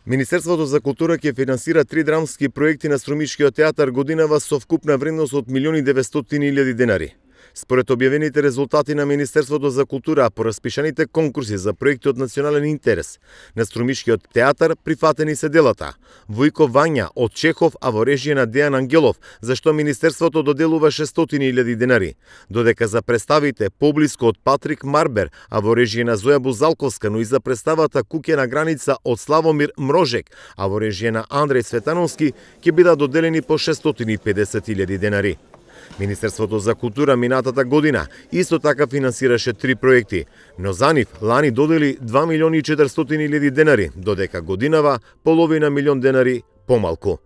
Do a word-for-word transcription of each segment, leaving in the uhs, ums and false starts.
Министерството за култура ќе финансира три драмски проекти на Струмишкиот театар годинава со вкупна вредност од милиони и деветстотини илјади денари. Според објавените резултати на Министерството за култура по распишаните конкурси за проекти од национален интерес на Струмишкиот театар прифатени се делата Војко Вања од Чехов, а во режија на Дејан Ангелов, за што Министерството доделува шестстотини илјади денари, додека за представите Поблиско од Патрик Марбер, а во режија на Зоја Бузалковска, но и за представата Куќе на граница од Славомир Мрожек, а во режија на Андреј Светановски ќе бидат доделени по шестстотини и педесет илјади денари. Министерството за култура минатата година исто така финансираше три проекти, но за нив лани додели два милиони и четиристотини илјади денари, додека годинава половина милион денари помалку.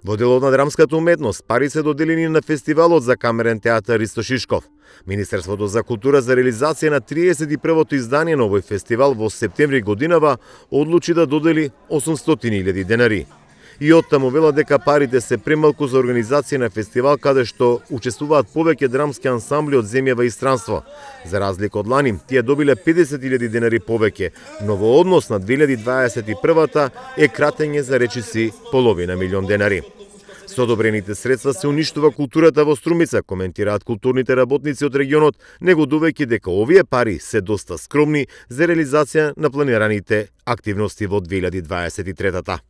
Во делот на драмската уметност пари се доделени на фестивалот за камерен театар Ристо Шишков. Министерството за култура за реализација на триесет и првото издание на овој фестивал во септември годинава одлучи да додели осумстотини илјади денари. И оттаму вела дека парите се премалку за организација на фестивал каде што учествуваат повеќе драмски ансамбли од земјава и странство. За разлика од лани, тие добиле педесет илјади денари повеќе, но во однос на две илјади дваесет и прва е кратење за речиси половина милион денари. Со одобрените средства се уништува културата во Струмица, коментираат културните работници од регионот, негодувајќи дека овие пари се доста скромни за реализација на планираните активности во две илјади дваесет и трета.